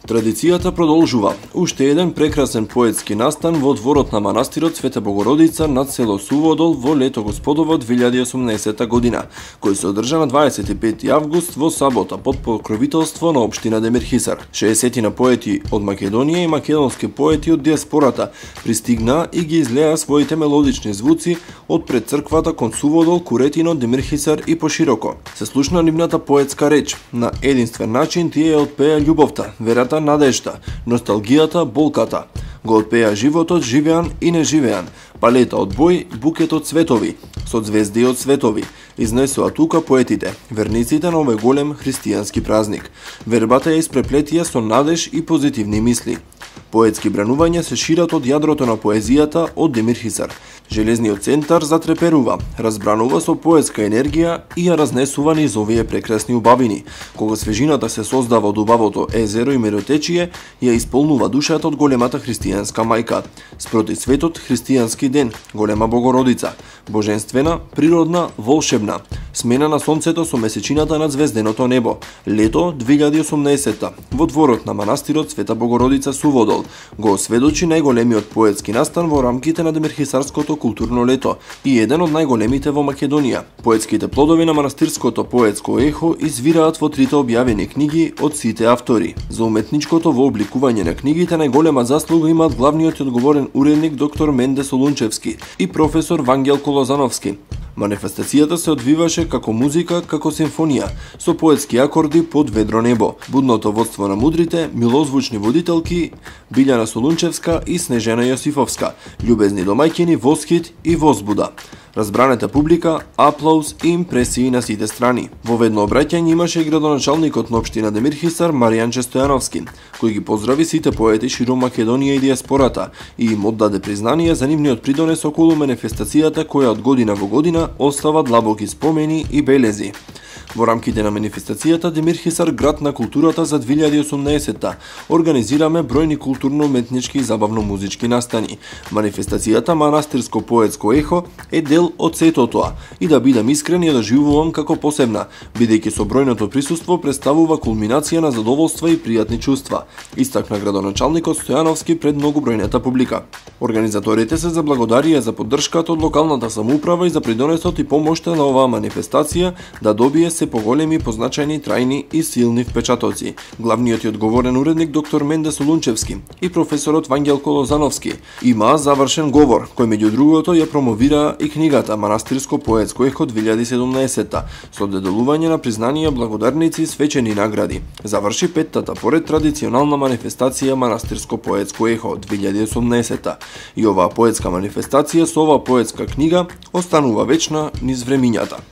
Традицијата продолжува. Уште еден прекрасен поетски настан во дворот на манастирот Света Богородица над село Суводол во лето Господово 2018 година, кој се одржа на 25 август во сабота под покровителство на општина Демирхисар. 60 поети од Македонија и македонски поети од диаспората пристигнаа и ги излеа своите мелодични звуци од пред црквата кон Суводол, Куретино, Демирхисар и пошироко. Се слушна нивната поетска реч. На единствен начин тие отпеа љубовта, верата, надежда, носталгијата, болката. Го отпеа животот, живеан и неживеан, палета од бој, букет од цветови, со звезди од светови. Изнесоа тука поетите, верниците на овој голем христијански празник. Вербата ја испреплетија со надеж и позитивни мисли. Поетски бранувања се шират од јадрото на поезијата од Демирхисар. Железниот центар затреперува, разбранува со поетска енергија и ја разнесува низ овие прекрасни убавини. Кога свежината се создава од убавото езеро и миротечие, ја исполнува душата од големата христијанска мајка. Спроти светот христијански ден, голема Богородица, божествена, природна, волшебна. Смена на сонцето со месечината над звезденото небо. Лето 2018 во дворот на манастирот Света Богородица Суводол го осведочи најголемиот поетски настан во рамките на Демирхисарското културно лето и еден од најголемите во Македонија. Поетските плодови на манастирското поетско ехо извираат во трите објавени книги од сите автори. За уметничкото вообликување на книгите најголема заслуга имаат главниот и одговорен уредник доктор Менде Солунчевски и професор Вангел Колозановски. Манифестацијата се одвиваше како музика, како симфонија, со поетски акорди под ведро небо. Будното водство на мудрите, милозвучни водителки Билјана Солунчевска и Снежена Јосифовска, љубезни домаќини Восхит и Возбуда. Разбранета публика, аплауз и импресии на сите страни. Во ведно обраќање имаше и градоначалникот на општина Демирхисар Маријанче Стојановски, кој ги поздрави сите поети широм Македонија и диаспората и им оддаде признание за нивниот придонес околу манифестацијата која од година во година остава длабоки спомени и белези. Во рамките на манифестацијата Демирхисар град на културата за 2018 организираме бројни културно-уметнички и забавно-музички настани. Манифестацијата Манастирско поетско ехо е дел од сето тоа и да бидам искрен ја доживувам како посебна, бидејќи со бројното присуство представува кулминација на задоволства и пријатни чувства, истакна градоначалникот Стојановски пред многобројната публика. Организаторите се заблагодарија за поддршката од локалната самоуправа и за придонесот и помошта на оваа манифестација да добие се поголеми, позначајни, трајни и силни впечатоци. Главниот и одговорен уредник доктор Менде Солунчевски и професорот Вангел Колозановски имаа завршен говор, кој меѓу другото ја промовира и книгата Манастирско поетско ехо 2017 со доделување на признанија, благодарници и свечени награди. Заврши петтата поред традиционална манифестација Манастирско поетско ехо 2018 и оваа поетска манифестација со оваа поетска книга останува вечна низ времињата.